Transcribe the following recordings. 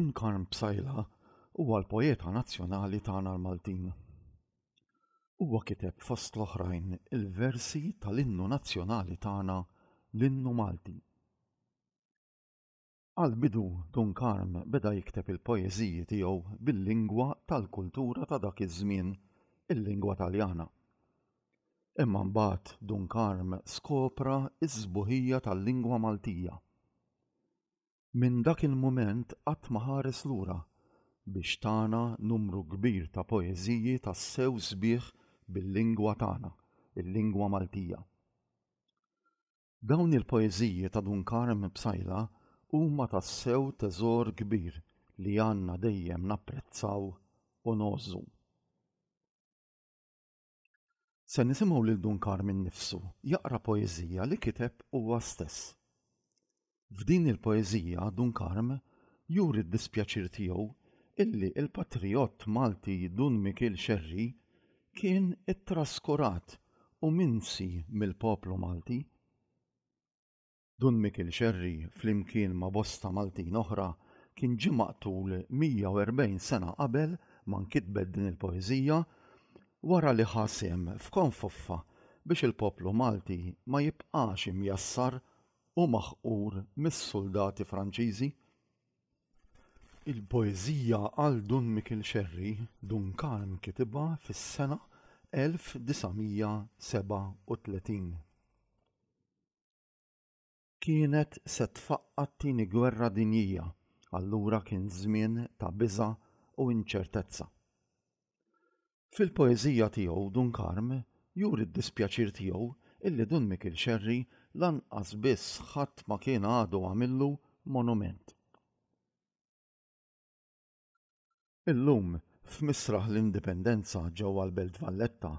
Dun Karm Psaila huwa l-poeta nazzjonali tagħna l-Maltin. Huwa kiteb fost l-oħrajn il-versi tal-innu nazzjonali tagħna l-Innu Malti. Għall-bidu Dun Karm beda jikteb il-poeżiji tiegħu bil-lingwa tal-kultura ta' dak iż-żmien, il-lingwa Taljana. Imma mbagħad Dun Karm skopra s-sbuħija tal-lingwa Maltija. Minn dak il-mument qatt ma ħares lura biex tana numru kbir ta' poeżiji tassew sbieħ bil-lingwa tagħna, il-lingwa Maltija. Dawn il-poeżiji ta' Dun Karm Psaila huma tassew teżor kbir li għandna dejjem napprezzaw u ngħożżu. Se nisimgħu lil Dun Karm innifsu jaqra poeżija li kiteb huwa stess. F'din il-poeżija Dun Karm juri d-dispjaċir tiegħu illi l-patrijott Malti Dun Mikiel Xerri kien ittraskurat u minsi mill-poplu Malti. Dun Mikiel Xerri flimkien ma' bosta Maltin oħra kien ġie maqtul 140 sena qabel ma nkitbet din il-poeżija wara li ħa sehem f'konfoffa biex il-poplu Malti ma jibqax imjassar u maħqur mis-suldati Franċiżi. Il-poeżija għal Dun Mikiel Xerri, Dun Karm kitibha fis-sena 1937. Kienet se tfaqqa' t-Tieni Gwerra Dinjija, allura kien żmien ta' biża' u inċertezza. Fil-poeżija tiegħu Dun Karm juri d-dispjaċir tiegħu illi Dun Mikiel Xerri lanqas biss ħadd ma kien għadu għamillu monument. Illum, f'Misraħ l-Indipendenza ġewwa l-Belt Valletta,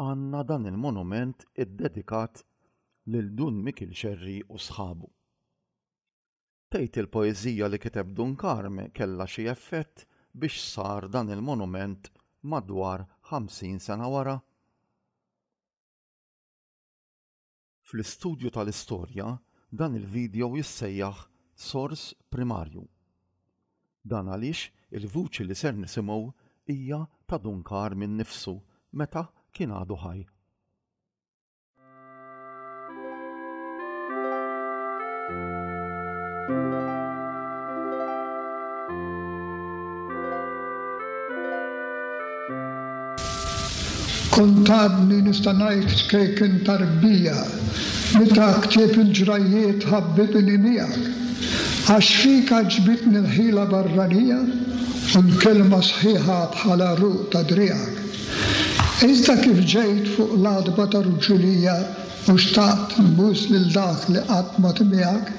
għandna dan il-monument iddedikat lil Dun Mikiel Xerri u sħabu. Tgħid il-poeżija li kiteb Dun Karm kellha xi effett biex sar dan il-monument madwar 50 sena wara? Fl-istudju tal-istorja, dan il-video jissejjaħ sors primarju. Dan għaliex il-vuċi li ser nisimgħu hija ta' Dun Karm innifsu meta kien għadu ħaj. Kont għadni nista' ngħid ċkejken tarbija meta ktieb il-ġrajjiet ħabbibni miegħek, għax fik għaġbitni l-ħila barranija u l-kelma sħiħa bħal għaruq ta' driegħek. Iżda kif ġejt fuq l-għatba ta' rġulija U xtaqt nbus lil dak li qatt ma tmiegħek,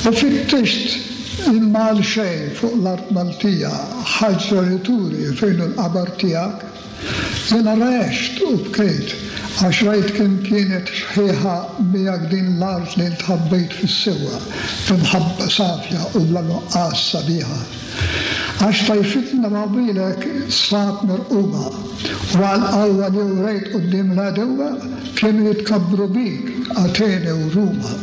u fittixt imma għal xejn fuq l-art Maltija ħaġra li turi fejn hu l-qabar tiegħek. Jiena rgħext u bkejt għax rajt kemm kienet xħiħa miegħek din l-art li int ħabbejt fis-sewwa b'imħabba safja u bla nuqqas sabiħa. Għax tajfitna ma' bilek sfat mirquma, u għall-qawwa li wrejt quddiem l-għedewwa kienu jitkabbru bik Atene u Ruma.